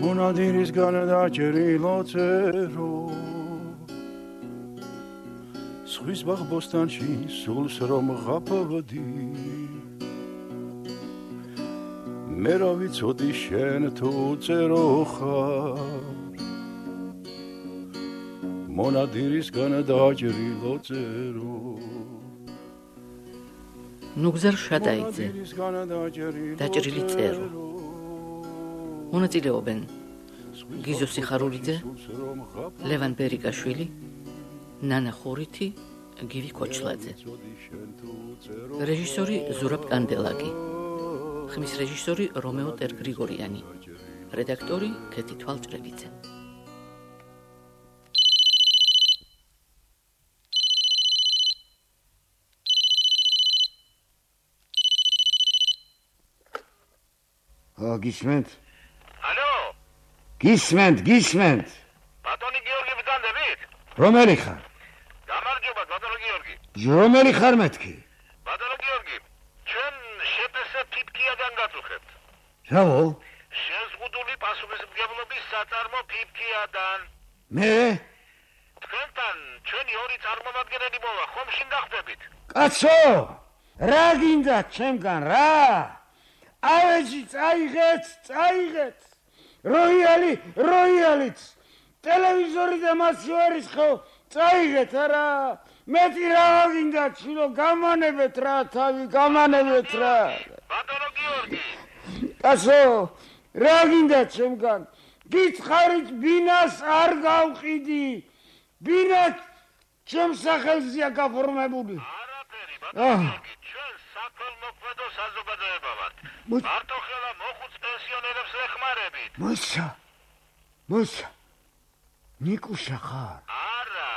მონადირისგან დაჭრილო წერო ზღვის ბაღბოსტანში სულს რომ ღაფავდი მე რა ვიცოდი შენ თუ წერო ხარ მონადირისგან დაჭრილო წერო ნუგზარ შადაიძე დაჭრილი წერო მონაწილეობენ გიზო სიხარულიძე ლევან ბერიკაშვილი ნანა ხურითი გივი ქოჩლაძე რეჟისორი ზურაბ კანდელაკი ხმის რეჟისორი რომეო ტერგრიგორიანი რედაქტორი ქეთი თვალჭრელიძე გისმენთ? ალო? გისმენთ. ბატონი გიორგი ბრძანდებით? რომელი ხარ? გამარჯობა, ბატონი გიორგი. რომელი ხარ მეთქი? ბატონი გიორგი, ჩვენ შეპესე ფიფქიადან გაწუხებთ. რავო? შეზღუდული პასუხისმგებლობის საწარმო ფიფქიადან. მე? თქვენთან ჩვენი ორი წარმომადგენელი მოვა, ხომ შინ დახვდებით? კაცო! რა გინდა ჩემგან რა? ავეჯი წაიღეთ როიალიც ტელევიზორი და მასი არის ხო წაიღეთ არა მეტი რა გინდა ჩილო გამანებეთ რა თავი გამანებეთ რა ბატონო გიორგი კაცო რა გინდა ჩემგან გითხარით ბინას არ გავყიდი ბინა ჩემს სახელზეა გაფორმებული არაფერი ბატონო გიორგი ჩვენ საქველმოქმედო საზოგადოება ვართ მარტო ხელა მოხუც პენსიონერებს ეხმარებით მოსა ნიკუშა ხარ არა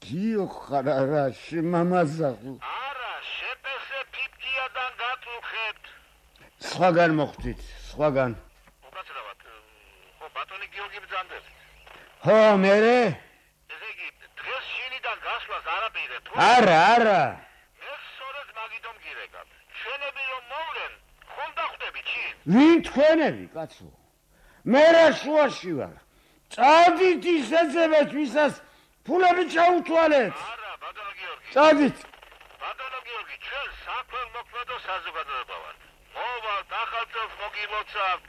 გიო ხარ არა შემამაზაღო არა შეპესე ფიფქიადან გაწუხებთ სხვაგან მოხვდით უკაცრავად ხო ბატონი გიორგი ბრძანდებით ხო მერე ესე იგი დღეს შინიდან გასვლას არაპირებთ არა ჩვენები რომ მოვლენ, ხომ დახვდებით ჩი? ვინ თქვენები, კაცო? მე რა შუაში ვარ. წადით ისეძებეთ, ვისაც ფულები ჩაუთვალეთ. არა, ბატონო გიორგი. წადით. ბატონო გიორგი, ჩვენ საქველმოქმედო საზოგადოება ვართ. მოვალთ, ახალწელს მოგილოცავთ,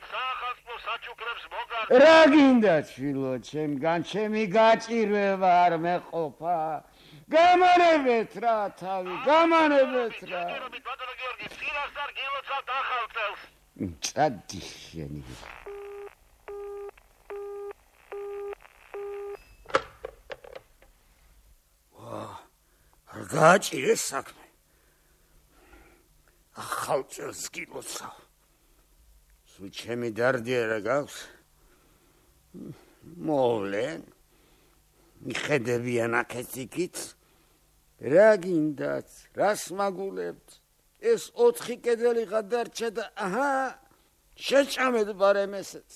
საახალწლო საჩუქრებს მოგართ. რა გინდა ჩილო, ჩემგან ჩემი გაჭირვება არ მეყოფა. გამანებეთ რა თავი, გამანებეთ რა. ბატონო გიორგი, ფინანსარ გილოცავთ ახალწელს. წადი შენი. არ გააჭირეს საქმე. ახალწელს გილოცავ. სულ ჩემი დარდია გაქვს. მოვლენ. მიხედებიან აქეთ რა გინდათ რას მაგულებთ ეს 4 კედელი გადარჩა და აჰა შეჭამეთ ბარემ ესეც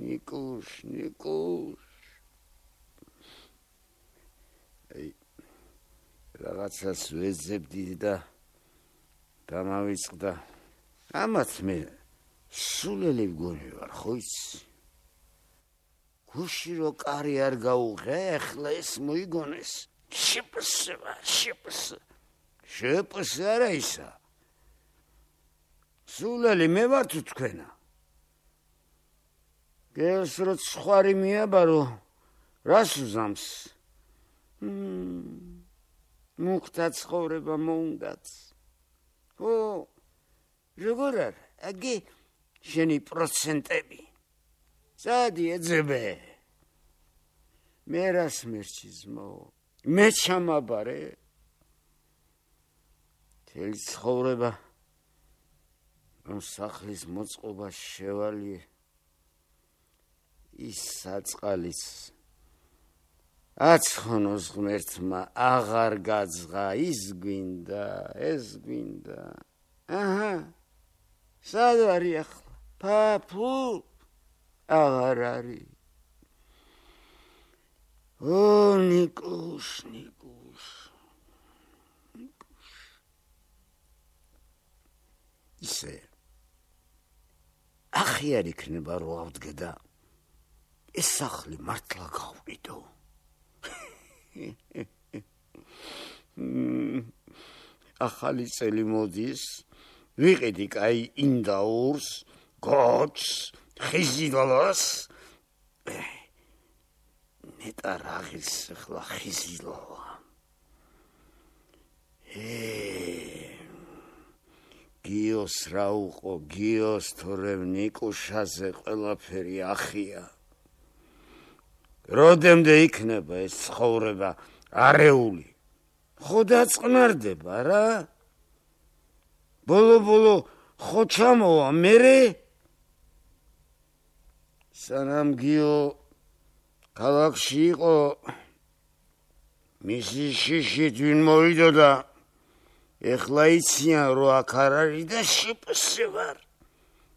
ნიკუშ რაღაცას ვეძებდი და გამავიწყდა ამათ მე სულელი მგონი ვარ ხო იცი გუში რო კარი არ გაუღე, ახლა ეს მოიგონეს. შეპსე არა ისა. სულელი მე ვარ თუ თქვენა. გელს რო ცხარი მიაბარო, რას უზამს? მუქთა ცხოვრება მოუნდათ. ო, როგორ არ, აგი შენი პროცენტები. წადი ეძებე მე რას მერჩიზმო მე ჩამაბარე თელი ცხოვრება ამ სახლის მოწყობა შევალიე ის საწყალიც აცხონოს ღმერთმა აღარ გაძღა ის გვინდა ეს გვინდა აჰა სად ვარი ახლა პაპუ აღარ არის ო ნიკუშ ისე აღიარ იქნება რომ ავდგე და ეს სახლი მართლა გავყიდო. ახალი წელი მოდის, ვიყიდი კაი ინდაურს, გოჩს, ხიზილოს. ნეტა რაღის ახლა ხიზილოა. გიოს რა უყო, გიოს თორემ ნიკუშაზე ყველაფერი ახია. როდემდე იქნება ეს ცხოვრება არეული? ხო დაწყნარდება რა? ბოლო ხო ჩამოვა მერე? სანამ გიო ქალაქში იყო, მისი შიშით ვინ მოვიდოდა, ეხლა იციან რომ აქ არ არის და შპს ვარ.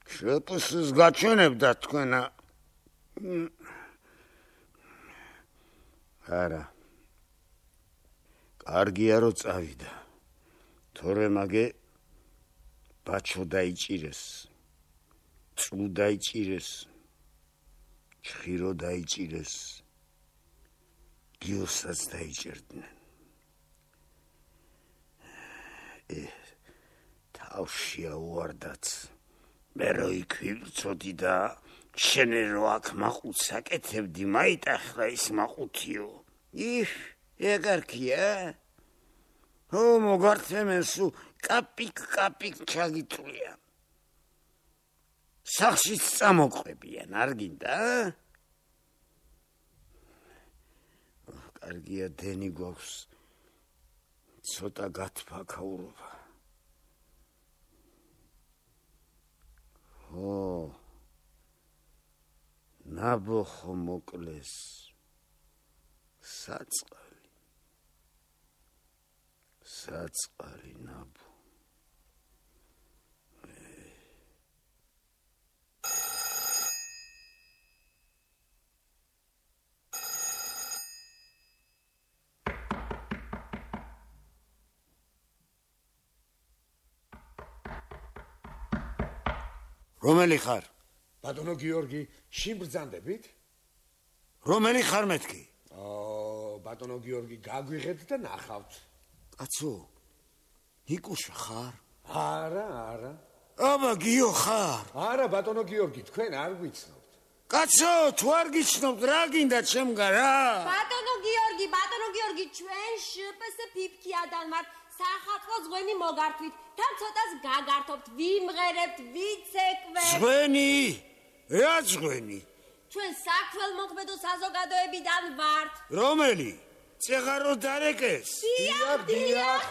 შპს გაჩვენებდა თქვენა. არა. კარგია რომ წავიდა. თორე მაგე ბაჩო დაიჭირეს. წუ დაიჭირეს. ჩხირო დაიჭირეს. გიოსაც დაიჭერდნენ. თავშია უარდაც. მე რო იქ ვიწოდი და შენ რო აქ მაყუთს აკეთებდი, მაიტახლა ის მაყუთიო. ეგარქია? ო მოგართემენსუ კაპიკ ჩაგიტვლია. სახშიც წამოყვებიან, არ გინდა? კარგია დენი გვაქვს. ცოტა გათფაქაურობა. ნაბოხო მოკლეს. საწყალი ნაბო. რომელი ხარ? ბატონო გიორგი, შინ ბრძანდებით? რომელი ხარ მეთქი? ბატონო გიორგი, გაგვიღეთ და ნახავთ. კაცო, ნიკუშა ხარ? არა. აბა გიო ხარ? არა, ბატონო გიორგი, თქვენ არ გვიცნობთ. კაცო, თუ არ გიცნობთ, რა გინდა ჩემგან რა? ბატონო გიორგი, ჩვენ შპს ფიფქიადან ვართ. სახალხო ზღვენი მოგართვით, თან ცოტას გაგართობთ, ვიმღერებთ, ვიცეკვეთ. ზღვენი? რა ზღვენი? ჩვენ საქმელმოქმედო საზოგადოებიდან ვართ. რომელი? წეღარო დარეკეს? დიახ.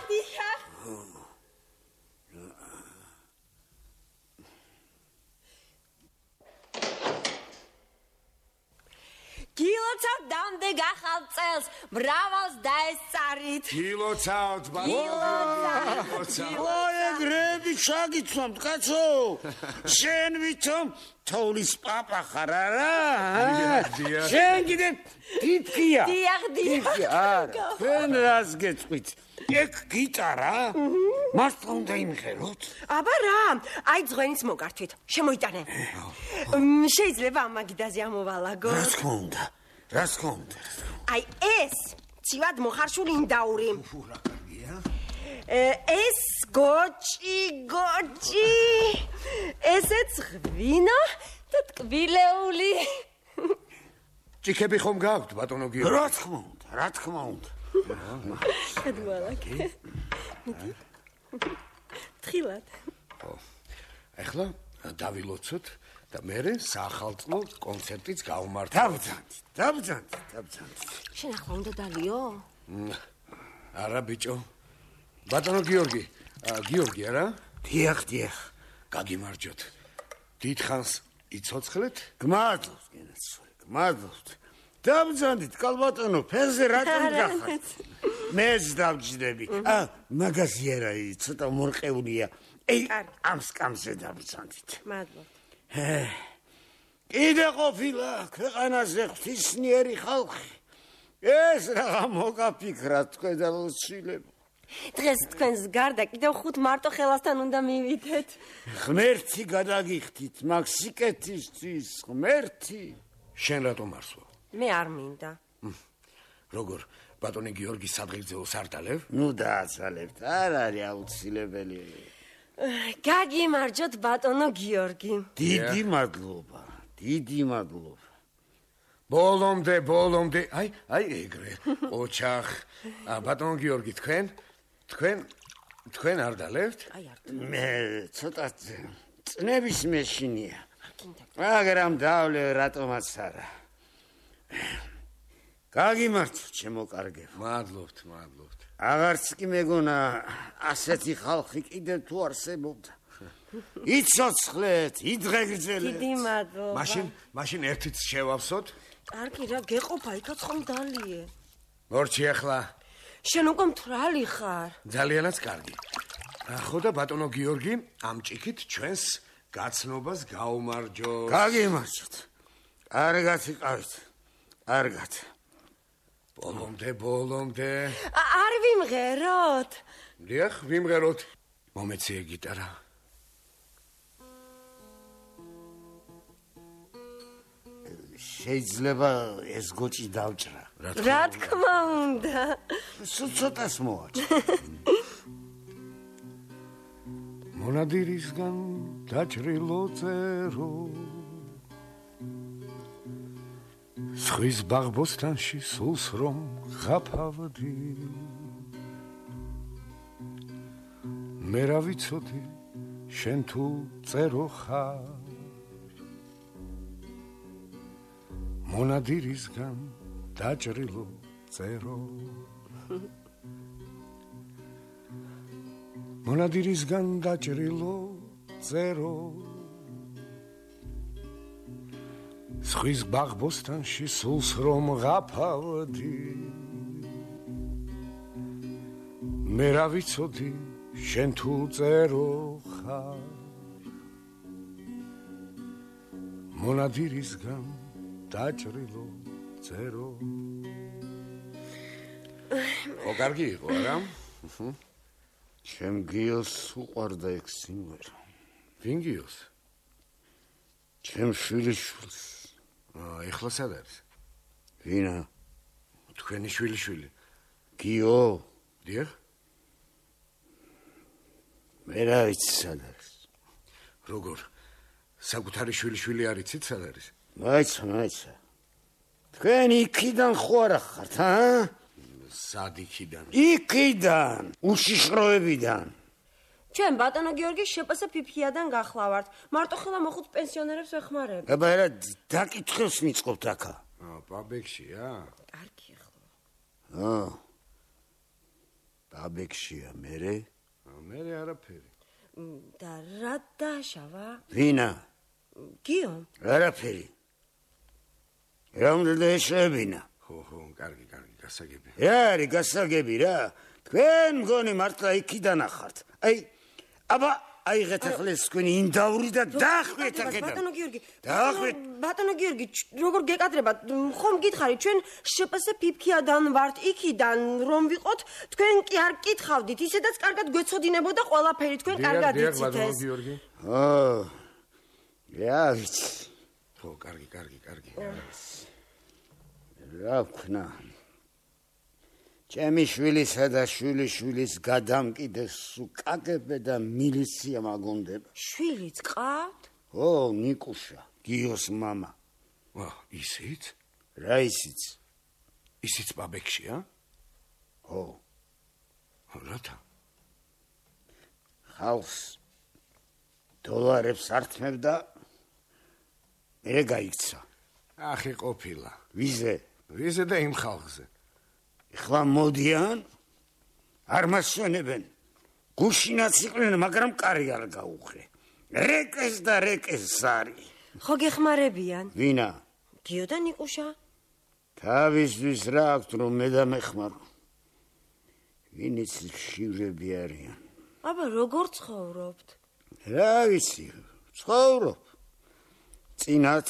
გილოცავთ დამდე გახალ წელს, მრავალს დაესწარით. გილოცავთ, ბატონო. ეგრები ჩაგიცნობთ, კაცო. შენ ვითომ თოვლის პაპა ხარ არა? შენ კიდე ფიფქია. დიახ. არა, თქვენ რას გეწყვით? ეგ გიტარა? მართლა უნდა იმღეროთ? აბა რა, აი ზღვენის მოგართვით, შემოიტანე. შეიძლება ამ მაგიდაზე ამოვალაგო. რა თქმა უნდა. აი ეს ცივად მოხარშული ინდაური. რა კარგია? ეს გოჭი. ესეც ღვინო და ტკბილეული. ჭიქები ხომ გაქვთ, ბატონო გიორგი? რა თქმა უნდა. გადმოალაგე. თხილად. ეხლა დავილოცოთ და მერე სახალხო კონცერტიც გავმართოთ. დავბრძანდით. შენ ახლა უნდა დალიო? არა ბიჭო. ბატონო გიორგი, გიორგი არა? დიახ. გაგიმარჯოთ. დიდხანს იცოცხლეთ? გმადლობთ. დავბრძანდით, კალბატონო, ფერზე რატომ გახართ? მეც დავჯდები. მაგაზი არა, ცოტა მორყეულია. ამ სკამზე დავბრძანდით. მადლობთ. კიდე ყოფილა ქვეყანაზე ღვთისმიერი ხალხი. ეს რაღა მოგაფიქრა თქვენ და ლოცვილებო. დღეს თქვენს გარდა კიდევ 5 მარტო ხელასთან უნდა მივიდეთ. ღმერთი გადაგიხდით, მაგ სიკეთისთვის ღმერთი. შენ რატომ არსვო? მე არ მინდა. როგორ ბატონი გიორგი სადღეგრძელოს არ დალევ? ნუ დააცალებთ, არ არის აუცილებელი. გაგიმარჯოთ ბატონო გიორგი. დიდი მადლობა, დიდი მადლობა. ბოლომდე, აი ეგრე. ოჩახ, ბატონ გიორგი თქვენ არ დალევთ? აი არ. მე ცოტა წნების მეშინია. მაგრამ დავლე რატომაც არა. გაგიმართო, ჩემო კარგებო. მადლობთ. აღარც კი მეგონა ასეთი ხალხი კიდევ თუ არსებობდა. იცოცხლეთ, იდღეგრძელეთ. დიდი მადლობა. მაშინ ერთიც შევავსოთ? კარგი რა, გეყოფა, იქაც ხომ დალიე. მორჩი ახლა. შენ უკვე მთვრალი ხარ. ძალიანაც კარგი. ხო და ბატონო გიორგი, ამ ჭიქით ჩვენს გაცნობას გაუმარჯოს. გაგიმარჯოთ. კარგად იყავით. კარგად. ბოლომდე. არ ვიმღეროთ? დიახ, ვიმღეროთ. მომეციე გიტარა. შეიძლება ეს გოჭი დავჭრა. რა თქმა უნდა. სულ ცოტას მოვაჭრე. მონადირისგან დაჭრილო წერო სხვის ბაღბოსტანში სულს რომ ღაფავდი მე რა ვიცოდი შენ თუ წერო ხარ მონადირისგან დაჭრილო წერო მონადირისგან დაჭრილო წერო სხვის ბაღბოსტანში სულს რომ ღაფავდი მე რა ვიცოდი შენ თუ წერო ხარ მონადირისგან დაჭრილო წერო ო კარგი იყო არა ჩემ გიოს უყვარდა ეგ სიმღერა. ვინ გიოს? ჩემ შვილიშვილს. ეხლა სად არის? ვინა? თქვენი შვილიშვილი. გიო? დიახ? მე რა ვიცი სად არის. როგორ? საკუთარი შვილიშვილი არ იცით სად არის? მაიცა. თქვენ იქიდან ხო არა ხართ, სად იქიდან? იქიდან, უშიშროებიდან. ჩვენ ბატონო გიორგი შპს ფიფიადან გახლავართ. მარტო ხელა მოხუც პენსიონერებს ვეხმარებ. აბა რა დაკითხებს მიწყობთ აქა? ბაბექშია? კარგი ახლა. ბაბექშია, მერე? მერე არაფერი. და რა დაშავა? ვინა? გიო? არაფერი. რა უნდა დაეშებინა? ხო, კარგი, გასაგები. რა არის გასაგები რა? თქვენ მგონი მართლა იქიდან ახართ. აბა აიღეთ ახლა ეს თქვენი ინდაური და დაახვიეთ აქედან. ბატონო გიორგი. დაახვიეთ. ბატონო გიორგი, როგორ გეკადრებათ? ხომ გითხარით, ჩვენ შპს ფიფიადან ვართ, იქიდან რომ ვიყოთ, თქვენ კი არ კითხავდით, ისედაც კარგად გვეცოდინებოდა ყველაფერი, თქვენ კარგად იცით ეს. ბატონო გიორგი. რა ვიცი. ხო, კარგი. რა ვქნა? ჩემი შვილისა და შვილიშვილის გადამკიდეს უკაკებე და მილიცია მაგონდება. შვილიც ყავთ? ო, ნიკუშა, გიოს მამა. ისიც? რა ისიც? ისიც ბაბექშია? ო. რათა? ხალხს დოლარებს ართმევდა მე გაიქცა. ახი ყოფილა. ვიზე და იმ ხალხზე. ეხლა მოდიან არ მასვენებენ. გუშინაც იყვნენ, მაგრამ კარი არ გაუღრე. რეკეს არის. ხო გეხმარებიან? ვინა? გიო და ნიკუშა? თავისთვის რა აქვთ რომ მე დამეხმარო. ვინიც შივრები არიან. აბა როგორ ცხოვრობთ? რა ვიცი, ცხოვრობ. წინათ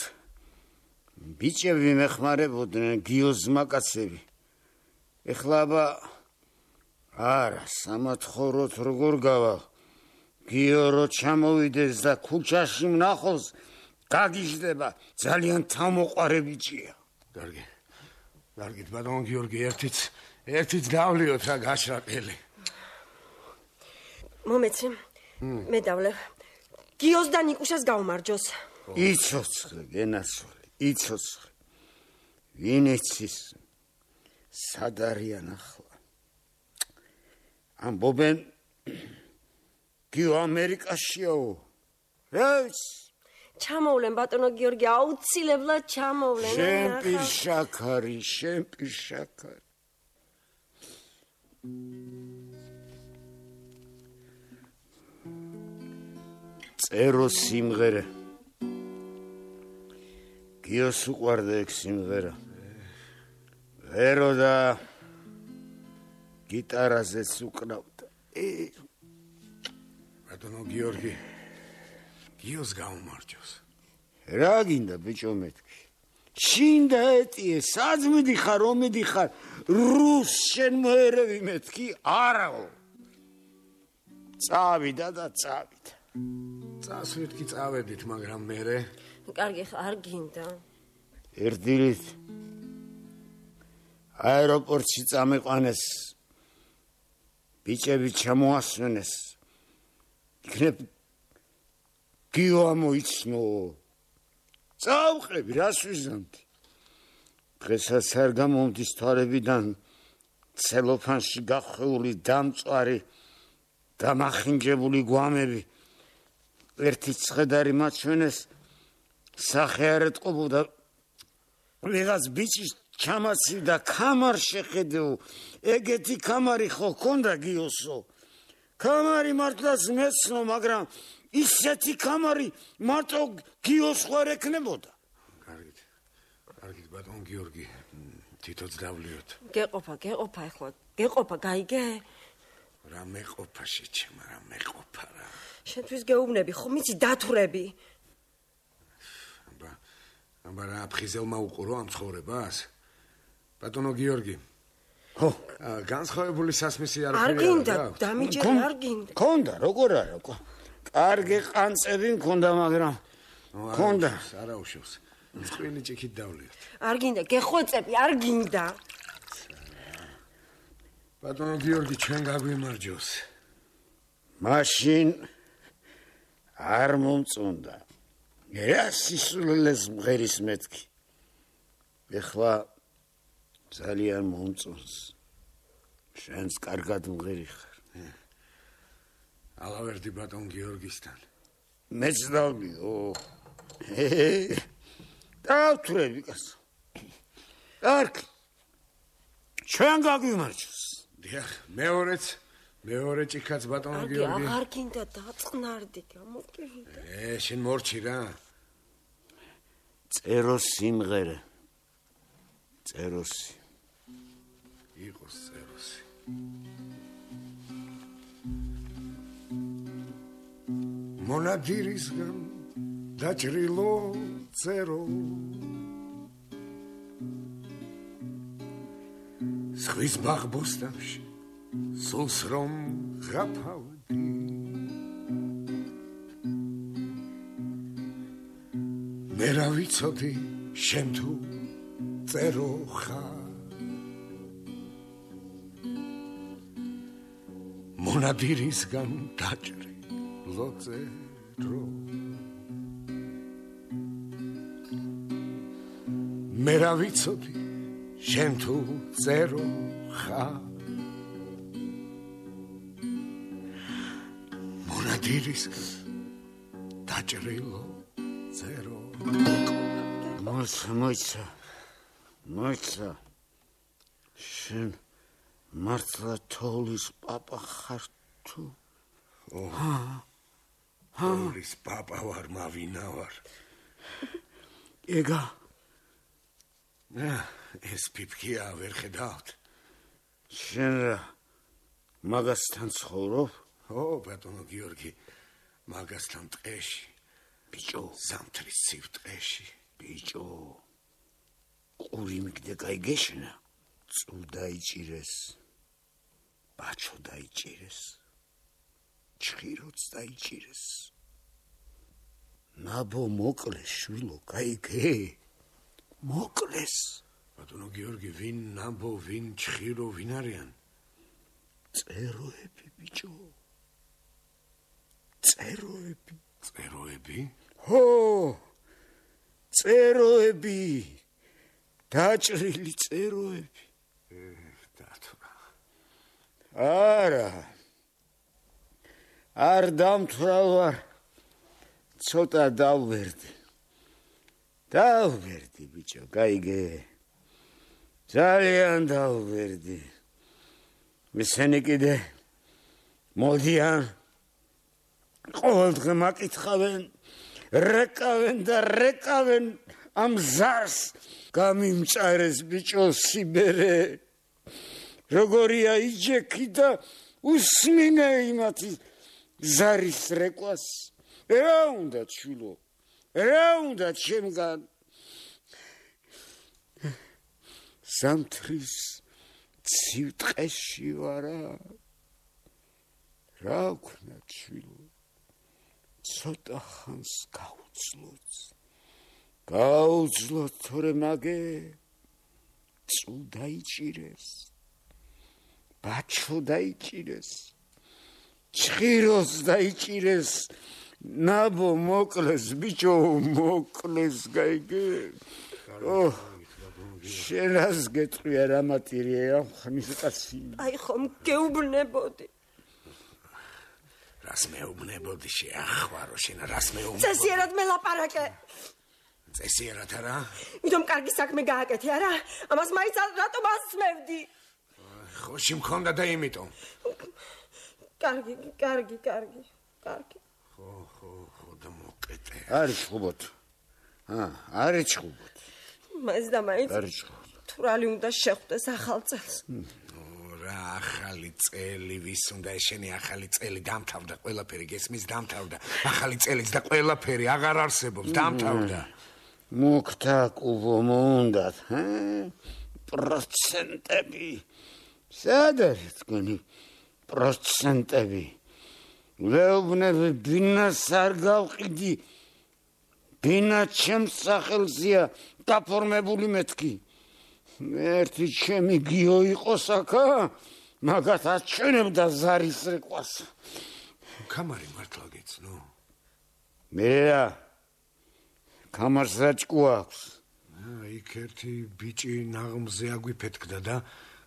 ბიჭები მეხმარებოდნენ გიოს მაკაცები. ეხლა აბა არა, სამათხოვროთ როგორ გავალ. გიორო ჩამოვიდეს და ქუჩაში მნახოს, გაგიჟდება, ძალიან თავმოყარე ბიჭია. კარგი. კარგით, ბატონო გიორგი, ერთიც დავლიოთ რა გაშრაკელი. მომეცი, მე დავლევ. გიოს და ნიკუშას გაუმარჯოს. იცოცხლე, გენაცვალე, იცოცხლე. ვინ იცის? სად არიან ახლა? ამბობენ გიო ამერიკაშიაო. რა ჩამოვლენ ბატონო გიორგი, აუცილებლად ჩამოვლენ. შემპირშაქარი. წერო სიმღერა. გიოს უყვარდა ეგ სიმღერა. ვერო და გიტარაზეც უკრავდა. ბატონო გიორგი, გიოს გაუმარჯოს. რა გინდა ბიჭო მეთქი? შინ და ეტიე, სად მიდიხარ, რომ მიდიხარ? რუს შენ მოერევი მეთქი? არაო. წავიდა და წავიდა. წასვით კი წავედით, მაგრამ მერე კარგი, არ გინდა. ერთდილით აეროპორტში წამიყვანეს. ბიჭები ჩამოასვენეს. იქნებ გიო ამოიცნო. წავყები, რას ვიზამთი? დღესაც არ გამომდის თვალებიდან ცელოფანში გახვეული დამწვარი დამახინჯებული გვამები. ერთი ცხედარი მაჩვენეს, სახე არ ეტყობოდა. ვიღაც ბიჭის ჩამაცივდა კამარ შეხედეო. ეგეთი კამარი ხო ქონდა გიოსო? კამარი მართლაც მეცნო, მაგრამ ისეთი კამარი მარტო გიოს ხარ ეკნებოდა. კარგით, ბატონ გიორგი, თითოც დავლიოთ. გეყოფა ახლა, გეყოფა, გაიგე? რა მეყოფა შეჩემა, რა მეყოფა რა. შენთვის გეუბნები, ხო მიცი დათვრები. აბა რა აფხიზელმა უყურო ამ ცხოვრებას? ბატონო გიორგი. ხო, განსხვავებული სასმისი არ არ გინდა, დამიჯერე არ გინდა. ქონდა, როგორ არა, კარგი ყანწები მქონდა, მაგრამ ქონდა. არა უშავს. წვილი ჭიქით დავლიოთ. არ გინდა, გეხვეწები, არ გინდა. ბატონო გიორგი, ჩვენ გაგვიმარჯოს. მაშინ არ მომწონდა. რა სისულელეს მღერის მეთქი. ეხლა ძალიან მომწონს. შენს კარგად მღერი ხარ. ალავერდი ბატონ გიორგისთან. მეც დავლიო. დავთვრები კაცო. კარგი. ჩვენ გაგვიმარჯოს. დიახ, მეორე ჭიქაც ბატონო გიორგი. აღარ გინდა დაწყნარდი, გამოკიდა. შენ მორჩი რა. წერო სიმღერა. წეროსი. იყოს წეროსი. მონადირისგან დაჭრილო წერო. ზღვის ბაღბოსტანში სულს რომ ღაფავდი. მე რა ვიცოდი შენ თუ წერო ხარ. მონადირისგან დაჭრილო წერო. მე რა ვიცოდი შენ თუ წერო ხარ. მონადირისგან დაჭრილო წერო. მოიცა. შენ მართლა თოვლის პაპა ხარ თუ? თოვლის პაპა ვარ, მავინა ვარ. ეგა ეს პიპკია ვერ ხედავთ. შენ მაგასთან ცხოვრობ? ო, ბატონო გიორგი, მაგასთან ტყეში. ბიჭო, ზამთრის ცივ ტყეში. ბიჭო, ყური მიგდე გაიგეშნა, წუ დაიჭირეს. ბაჩო დაიჭირეს. ჩხიროც დაიჭირეს. ნაბო მოკლეს შვილო, გაიგე? მოკლეს. ბატონო გიორგი, ვინ ნაბო, ვინ ჩხირო, ვინ არიან? წეროები, ბიჭო. წეროები. წეროები? ჰო! წეროები. დაჭრილი წეროები. დათო. არა. არ დამთვრალ ვარ. ცოტა დავვერდი. დავვერდი, ბიჭო, გაიგე? ძალიან დავვერდი. მისენი კიდე მოდიან. ყოველდღე მაკითხავენ, რეკავენ და რეკავენ ამ ზარს გამიმჭარეს ბიჭო სიბერე. როგორია იჯექი და უსმინე იმათი ზარის რეკვას. რა უნდა ჩვილო? რა უნდა ჩემგან? სამთრის ცივტყეში ვარა. რა ვქნა ჩვილო? ცოტა ხანს გაუძლოთ, თორე მაგე წუ დაიჭირეს, ბაჩო დაიჭირეს, ჩხიროს დაიჭირეს, ნაბო მოკლეს, ბიჭო მოკლეს, გაიგე? შენას გეტყვია რა მატირია ხმის კაცი. აი ხომ გეუბნებოდი. რას მეუბნებოდი შეახვარო შენ, რას მეუბნებოდი? წესიერად მელაპარაკე. წესიერად არა? იმიტომ კარგი საქმე გააკეთე არა? ამას მაინც რატომ ასმევდი? ხოში მქონდა და იმიტომ. კარგი. ხო და მოკეთე. არის ხუბოთ. არის ხუბოთ. მას და მაინც არის ხუბოთ. თურალი უნდა შეხვდეს ახალ წელს. რა ახალი წელი, ვის უნდა შენი ახალი წელი დამთავრდა, ყველაფერი გესმის დამთავრდა. ახალი წელიც და ყველაფერი აღარ არსებობს, დამთავრდა. მოგთა კუბო მოუნდათ, პროცენტები. სად არის თქვენი პროცენტები? ვეუბნები ბინას არ გავყიდი. ბინა ჩემს სახელზეა დაფორმებული მეთქი. ერთი ჩემი გიო იყოს აქა, მაგათ აჩვენებდა ზარის რეკვას. კამარი მართლა გეცნო? მე რა კამარს რაჭკუ აქვს. იქ ერთი ბიჭი ნაღმზე აგვიფეთქდა და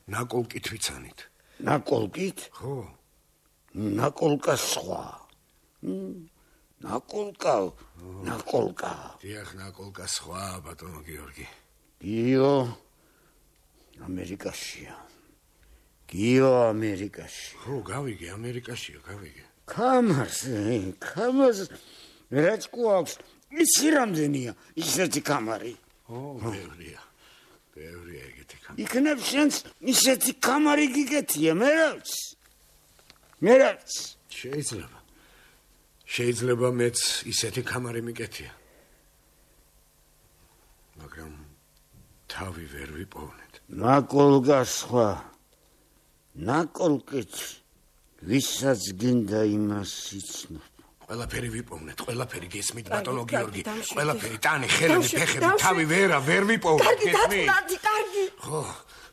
ნაკოლკით ვიცანით. ნაკოლკით? ხო. ნაკოლკა სხვა. ნაკოლკა. დიახ, ნაკოლკა სხვა, ბატონო გიორგი. გიო ამერიკაშია. გიო ამერიკაში. ხო, გავიგე, ამერიკაშია, გავიგე. კამარს რაჭკუ აქვს. იცი რამდენია ისეთი კამარი? ბევრია ეგეთი კამარი. იქნებ შენს ისეთი კამარი გიგეთია, მე რა ვიცი. შეიძლება მეც ისეთი კამარი მიკეთია. მაგრამ თავი ვერ ვიპოვნეთ. ნაკოლკა სხვა. ნაკოლკით ვისაც გინდა იმას იცნობ. ყველაფერი ვიპოვნეთ, ყველაფერი გესმით, ბატონო გიორგი. ყველაფერი ტანი, ხელები, ფეხები, თავი ვერ ვიპოვნეთ, გესმით? კარგი. ხო,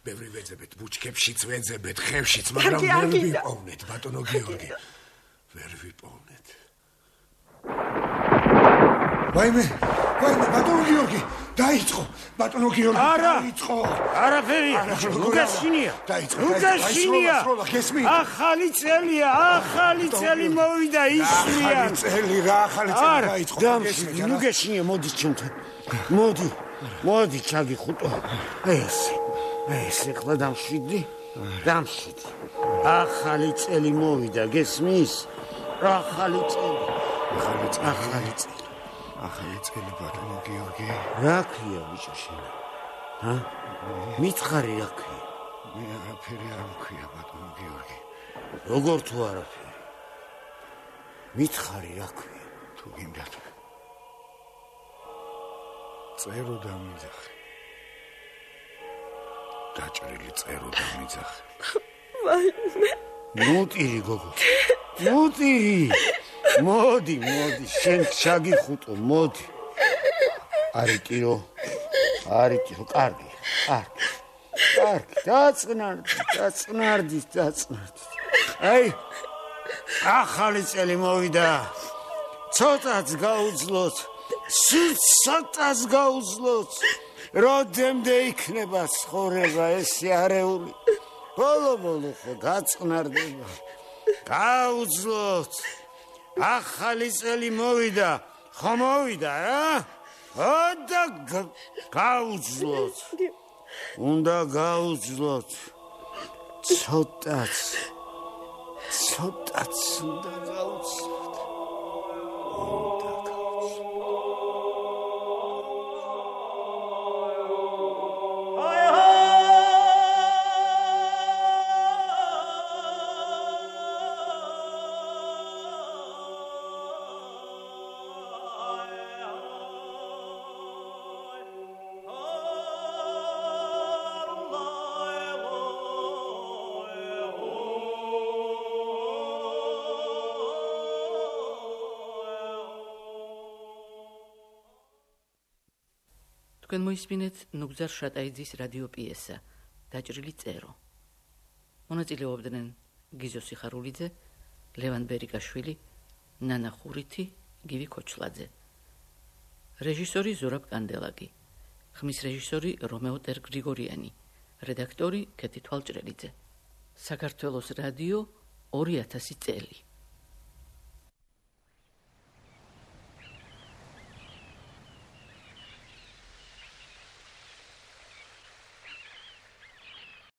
ბევრი ვეძებეთ, ბუჩქებშიც ვეძებეთ, ხევშიც, მაგრამ ვერ ვიპოვნეთ, ბატონო გიორგი. ვერ ვიპოვნეთ. ვაიმე, ბატონო გიორგი, დაიწყო, ბატონო გიორგი, დაიწყო. არაფერია, უკაშინია. უკაშინია. ახალი წელია, ახალი წელი მოვიდა ისმიან. ახალი წელი, რა ახალი წელი დაიწყო. უკაშინია, მოდი ჩემთან. მოდი, ჩაგიხუტო. ეს ახლა დამშვიდი. ახალი წელი მოვიდა, გესმის? ახალი წელი. ახალი წელი, ბატონო გიორგი. რა ქვია ბიჭო შენ? მითხარი რა ქვია? მე არაფერი არ მქვია, ბატონო გიორგი. როგორ თუ არაფერი? მითხარი რა ქვია? თუ გინდათ. წერო დამიძახე. დაჭრილი წერო დამიძახე. ნუტირი გოგო. ნუტირი. მოდი, შენ შაგიხუტო, მოდი. არიკირო, კარგი. დაწყნარდი. აი, ახალი წელი მოვიდა. ცოტაც გაუძლოთ. ცოტაც გაუძლოთ. როდემდე იქნება ცხოვრება ესე არეული. ბოლო ხო გაწყნარდება. გაუძლოთ. ახალი წელი მოვიდა. ხო მოვიდა რა? და გაუძლოთ. უნდა გაუძლოთ. ცოტაც უნდა გაუძლოთ. თქვენ მოისმინეთ ნუგზარ შატაიძის რადიო პიესა დაჭრილი წერო. მონაწილეობდნენ გიზო სიხარულიძე, ლევან ბერიკაშვილი, ნანა ხურითი, გივი ქოჩლაძე. რეჟისორი ზურაბ კანდელაკი, ხმის რეჟისორი რომეო ტერგრიგორიანი, რედაქტორი ქეთი თვალჭრელიძე. საქართველოს რადიო 2000 წელი.